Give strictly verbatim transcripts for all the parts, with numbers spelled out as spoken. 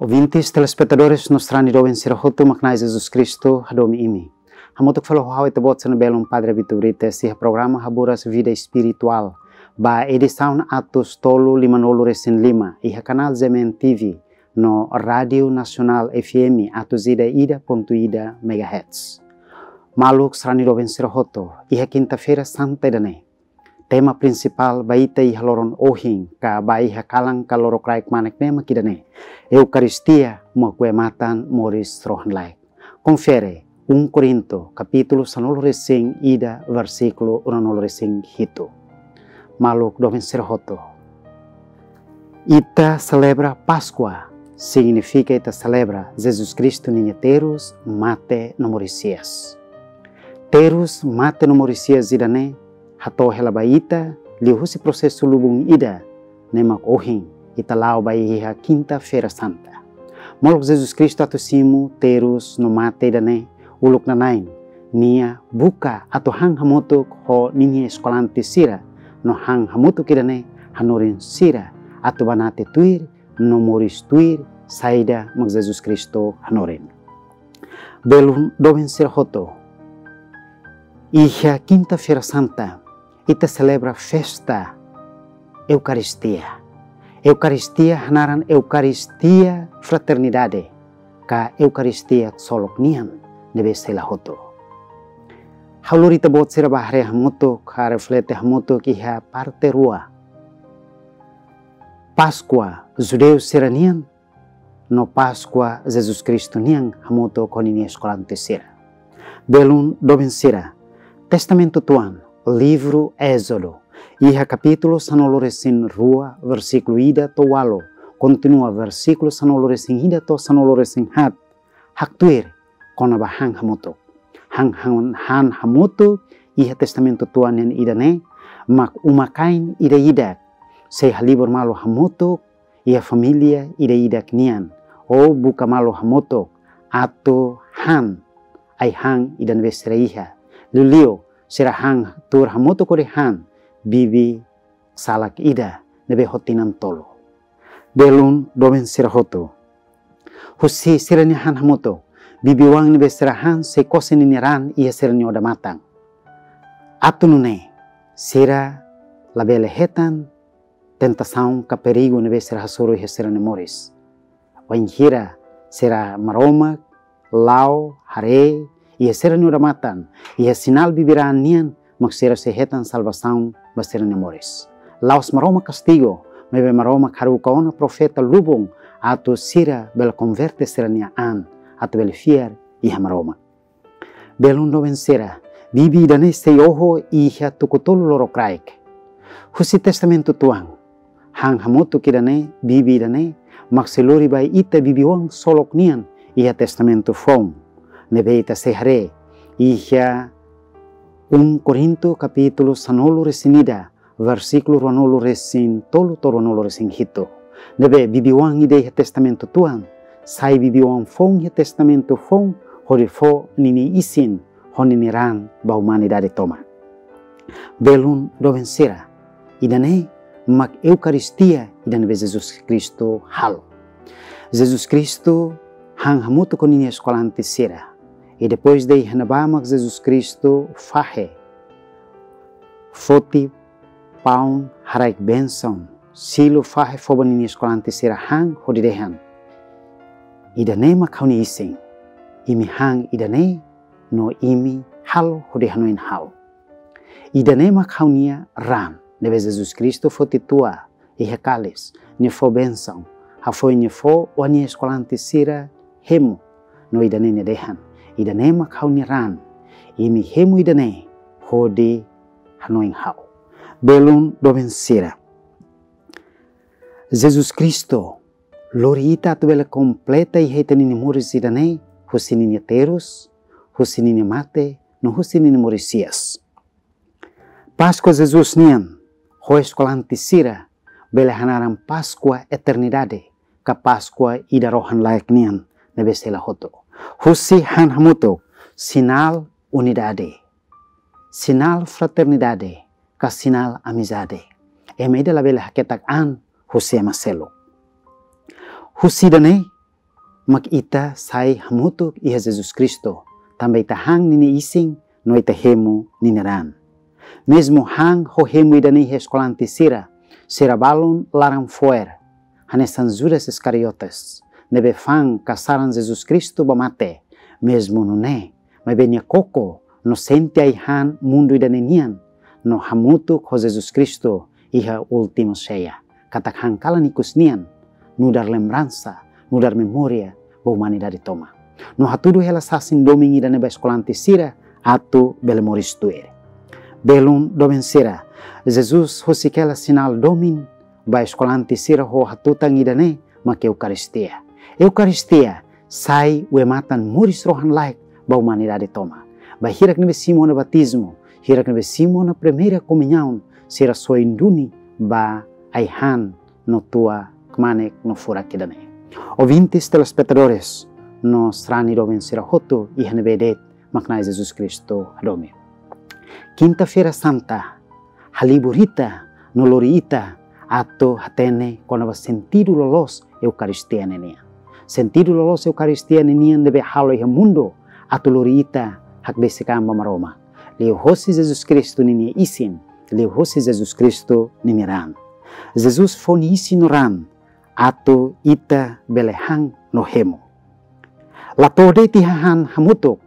Ouvintes, telespetadores, no sarani doben sira hotu, mak Na'i Jesus Kristu hadomi imi. Hamutuk fali ho ha'u ita-boot sira-nia belun Padre Vitor Brites iha programa Haburas Vida Espiritual, ba edisaun atus tolu lima-nulu resin lima, iha kanál G M N T V, no Rádiu Nasionál F M atus ida ida pontu ida megahertz. Maluk sarani doben sira hotu, iha Kinta-feira Santa ida-ne'e, tema prinsipál ba ita iha loron ohin, ka ba iha kalan ka lorokraik kmanek ne'e mak ida-ne'e: Eukaristia mak wematan moris rohan-laek. Konfere um Korintu, kapítulu sanulu resin ida, versíkulu ruanulu resin hitu. Maluk doben sira hotu, ita selebra Páskua, signifika ita selebra Jesus Kristu ninia terus, mate no moris hi'as. Terus, mate no moris hi'as ida-ne'e hato'o hela ba ita liuhusi prosesu lubun ida, ne'e mak ohin ita la'o ba iha Kinta-feira Santa. Maluk, Jesus Kristu atu simu terus no mate ida-ne'e, uluk nanain Nia buka atu han hamutuk ho ninia eskolante sira, no han hamutuk ida-ne'e hanorin sira atu banati tuir no moris tuir saida mak Jesus Kristu hanorin. Belun doben sira hotu, iha Kinta-feira Santa ita selebra festa Eukaristia. Eukaristia hanaran Eukaristia Fraternidade, ka Eukaristia ksolok nian ne'ebé sei la hotu. Ha'u lori ita-boot sira ba haree hamutuk, ka reflete hamutuk iha parte rua: Páskua judeu sira-nian, no Páskua Jesus Kristu nian hamutuk ho ninia eskolante sira. Belun doben sira, Testamentu Tuan, livru Ézodu, iha kapítulu sanulu resin rua, versíkulu ida to'o ualu, kontinua versíkulu sanulu resin ida to'o sanulu resin haat, haktuir kona-ba han hamutuk. Han, han, han hamutuk iha Testamentu Tuan nian ida-ne'e mak uma-kain ida-idak sei halibur malu hamutuk iha família ida-idak nian, ou buka malu hamutuk atu han ai-han ida ne'ebé sira iha. Liuliu sira han tuur hamutuk hodi han bibi salak ida ne'ebé ho tinan tolu. Belun doben sira hotu, husi sira-nia han hamutuk, bibi-oan ne'ebé sira han sei kose ninia raan iha sira-nia odamatan, atu nune'e sira labele hetan tentasaun ka perigu ne'ebé sira hasoru iha sira-nia moris. Wainhira sira Maromak la'o haree iha sira-nia odamatan, iha sinál bibi-raan nian mak sira sei hetan salvasaun ba sira-nia moris. La'ós Maromak kastigu, maibé Maromak haruka ona profeta lubun atu sira bele konverte sira-nia an, atu bele fiar iha Maromak. Belun doben sira, bibi ida-ne'e sei oho iha tuku tolu lorokraik. Husi Testamentu Tuan, han hamutuk ida-ne'e, bibi ida-ne'e mak sei lori ba ita bibi-oan ksolok nian iha Testamentu Foun, ne'ebé ita sei haree iha um Korintu kapítulu sanulu resin ida, versíkulu ruanulu resin tolu to'o ruanulu resin hitu. Ne'ebé bibi-oan ida iha Testamentu Tuan sai bibi-oan foun iha Testamentu Foun, hodi fó ninia isin ho ninia raan ba umanidade tomak. Belun doben sira, ida-ne'e mak Eukaristia ida ne'ebé Jesus Kristu halo. Jesus Kristu han hamutuk ho ninia eskolante sira. I depois de iha ne'ebá mak Jesus Kristu fahe, foti paun, haraik bensaun, silu, fahe, fó ba ninia eskolante sira han hodi dehan: Ida-ne'e mak ha'u-nia isin, imi han ida-ne'e no imi halo hodi hanoin ha'u. Ida-ne'e mak ha'u-nia raan. Ne'ebé Jesus Kristu foti tua iha kalis, Nia fó bensaun, hafoin Nia fó, oan Nia eskolante sira hemu, no ida-ne'e Nia dehan: Ida-ne'e mak ha'u-nia raan, imi hemu ida-ne'e hodi hanoin ha'u. Belun doben sira, Jesus Kristu lori ita atu bele kompleta iha ita-nia moris ida-ne'e, husi ninia terus, husi ninia mate, no husi ninia moris hi'as. Páskua Jesus nian ho eskolante sira bele hanaran Páskua eternidade, ka Páskua ida rohan-laek nian ne'ebé sei la hotu. Husi han hamutuk, sinál unidade, sinál fraternidade, ka sinál amizade. Ema ida labele haketak an husi ema seluk. Husi ida-ne'e, mak ita sai hamutuk iha Jesus Kristu, tanba ita han ninia isin no ita hemu ninia raan. Mezmu han ho hemu ida-ne'e iha eskolante sira, sira balun laran-fo'er, hanesan Judas Iskariotes, ne'ebé fa'an kasaran Jesus Kristu ba mate, mezmu nune'e, maibé nia koko no sente ai-han mundu ida-ne'e nian, no hamutuk ho Jesus Kristu iha última seia, katak han kalan ikus nian, nu'udar lembransa, nu'udar memória ba umanidade tomak. No hatudu hela sasin domin ida-ne'e ba eskolante sira atu bele moris tuir. Belun doben sira, Jesus husik hela sinál domin ba eskolante sira ho hatutan ida-ne'e mak Eukaristia. Eukaristia sai wematan moris rohan-laek ba umanidade tomak. Ba hirak ne'ebé simu ona batizmu, hirak ne'ebé simu ona primeira komuñaun, sira soin duni ba ai-han no tua kmanek no furak ida-ne'e. Ouvintes, telespetadores, no sarani doben sira hotu iha ne'ebé de'it mak Na'i Jesus Kristu hadomi. Kinta-feira Santa halibur ita no lori ita atu hatene kona-ba sentidu loloos Eukaristia ne'e nian. Sentidu loloos Eukaristia ne'e nian ne'ebé halo iha mundu atu lori ita hakbesik an ba Maromak, liuhosi Jesus Kristu ninia isin, liuhosi Jesus Kristu ninia raan. Jesus fó nia isin no raan atu ita bele han no hemu. La to'o de'it iha han hamutuk,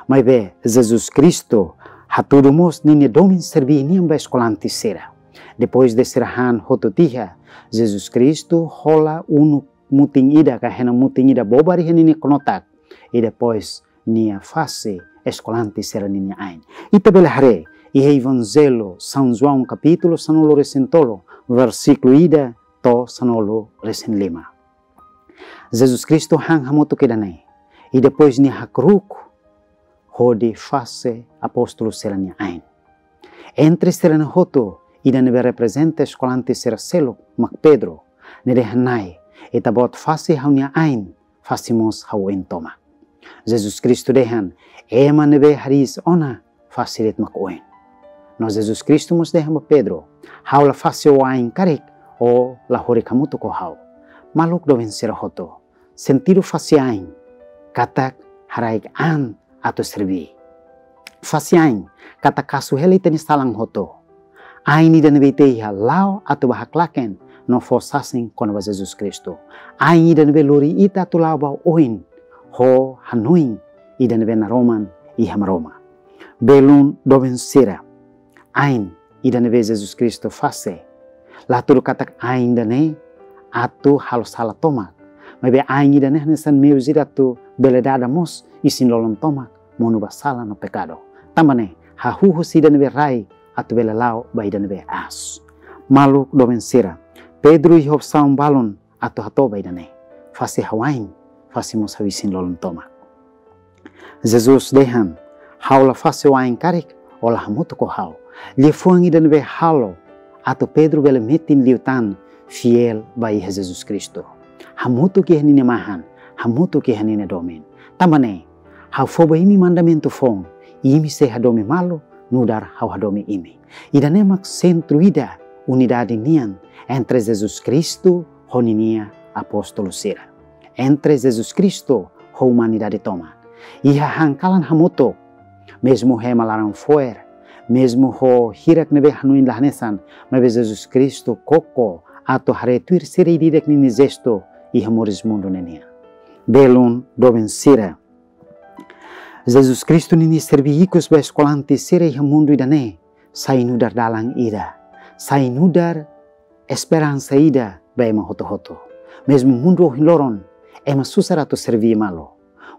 maibé Jesus Kristu hatudu mós ninia domin serbí nian ba eskolante sira. Depois de sira han hotu tiha, Jesus Kristu hola unu mutin ida ka hena mutin ida bobar iha ninia knotak, i depois nia fase eskolante sira ninia ain. Ita bele haree iha Evanjellu São João kapítulu sanulu-resin-tolu, versíkulu ida to'o sanulu-resin-lima. Jesus Kristu han hamutuk ida-ne'e, i depois nia hakru'uk hodi fase apóstolu sira-nia ain. Entre sira-ne'e hotu, ida ne'ebé reprezenta eskolante sira seluk mak Pedro, nia dehan: Na'i, Ita-Boot fase ha'u-nia ain, fase mós ha'u oin tomak. Jesus Kristu dehan: Ema ne'ebé hariis ona, fase de'it mak oin. No Jesus Kristu mós dehan ba Pedro: Ha'u la fase ó ain karik, ó la horik hamutuk ho ha'u. Maluk doben sira hotu, sentidu fase ain katak haraik an atu serbí. Fase ain katak kasu hela ita-nia salan hotu. Ain ida ne'ebé ita iha la'o atu bá haklaken no fó sasin kona-ba Jesus Kristu. Ain ida ne'ebé lori ita atu la'o ba oin ho hanoin ida ne'ebé naroman iha Maromak. Belun doben sira, ain ida ne'ebé Jesus Kristu fase, la hatudu katak ain ida-ne'e atu halo sala tomak. Maibé ain ida-ne'e hanesan meius ida atu bele dada mós isin-lolon tomak monu ba sala no pekadu. Tanba ne'e, hahú husi ida ne'ebé rai atu bele la'o ba ida ne'ebé aas. Maluk doben sira, Pedro iha opsaun balun atu hato'o ba ida-ne'e: Fase ha'u ain, fase mós ha'u isin-lolon tomak. Jesus dehan: Ha'u la fase ó ain karik, ó la hamutuk ho ha'u. Liafuan ida ne'ebé halo atu Pedro bele metin liután fiél ba iha Jesus Kristu. Hamutuk iha ninia mahan, hamutuk iha ninia domin. Tanba ne'e, ha'u fó ba imi mandamentu foun, imi sei hadomi malu nu'udar ha'u hadomi imi. Ida-ne'e mak sentru ida unidade nian entre Jesus Kristu ho ninia apóstolu sira, entre Jesus Kristu ho umanidade tomak. Iha han kalan hamutuk, mezmu ema laran-fo'er, mezmu ho hirak ne'ebé hanoin la hanesan, maibé Jesus Kristu koko atu haree tuir sira ida-idak ninia jestu iha moris mundu ne'e nian. Belun doben sira, Jesus Kristu ninia serbí ikus ba eskolante sira iha mundu ida-ne'e sai nu'udar dalan ida, sai nu'udar esperansa ida ba ema hotu-hotu. Mezmu mundu ohin loron ema susar atu serbí malu.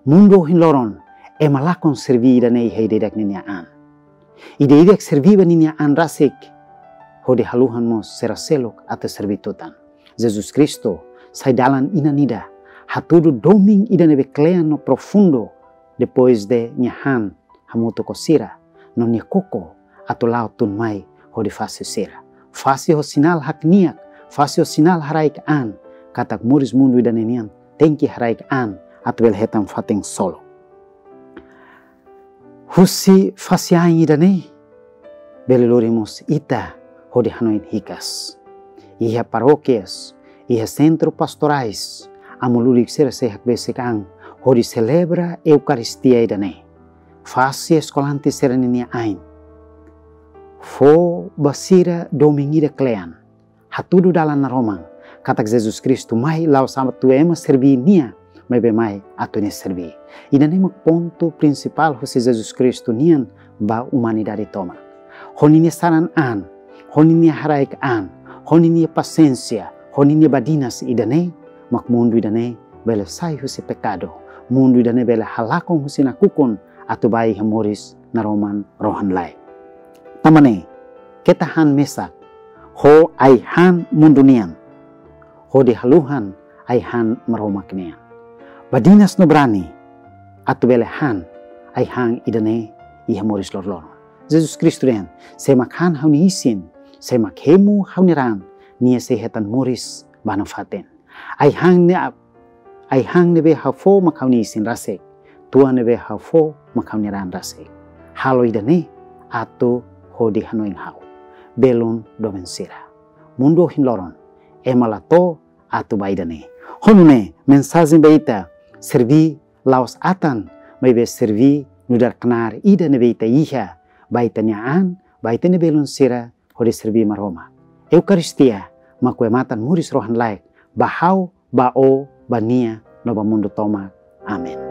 Mundu ohin loron ema lakon serbí ida-ne'e iha ida-idak ninia an. Ida-idak serbí ba ninia an rasik, hodi haluhan mós sira seluk atu serbí tutan. Jesus Kristu sai dalan inan ida, hatudu domin ida ne'ebé kle'an no profundu, depois de nia han hamutuk ho sira, no nia koko atu la'o tun mai hodi fase sira. Fase ho sinál hakniak, fase ho sinál haraik an, katak moris mundu ida-ne'e nian tenke haraik an atu bele hetan fatin solok. Husi fase ain ida-ne'e, bele lori mós ita hodi hanoin hikas. Iha parókias, iha sentru pastorais, Amu lulik sira sei hakbesik an hodi selebra Eukaristia ida-ne'e. Fase eskolante sira ninia ain. Fó ba sira domin ida kle'an. Hatudu dalan naroman katak Jesus Kristu mai la'ós atu ema serbí Nia, maibé mai atu Nia serbí. Ida-ne'e mak pontu prinsipál husi Jesus Kristu nian ba umanidade tomak. Ho ninia saran an, ho ninia haraik an, ho ninia pasiénsia, ho ninia badinas ida-ne'e mak mundu ida-ne'e bele sai husi pekadu. Mundu ida-ne'e bele halakon husi nakukun atu bá iha moris naroman rohan-laek. Tanba ne'e, keta han mesak ho ai-han mundu nian, hodi haluhan ai-han Maromak nian. Badinas no brani atu bele han ai-han ida-ne'e iha moris loroloron. Jesus Kristu dehan: "Sé mak han ha'u-nia isin, sé mak hemu ha'u-nia raan, nia sei hetan moris ba nafatin." Ai-han ne'e, ai-han ne'ebé ha'u fó mak ha'u-nia isin rasik, tuan ne'ebé ha'u fó mak ha'u-nia raan rasik. Halo ida-ne'e atu hodi hanoin ha'u. Belun doben sira. Mundu ohin loron, ema la to'o atu ba ida-ne'e. Ho nune'e, mensajen ba ita, serbí la'ós atan, maibé serbí nu'udar knaar ida ne'ebé ita iha ba ita-nia an, ba ita-nia belun sira, hodi serbí Maromak. Eukaristia mak kue-matan moris rohan-laek ba ha'u, ba ó, ba nia, no ba mundu tomak. Amen.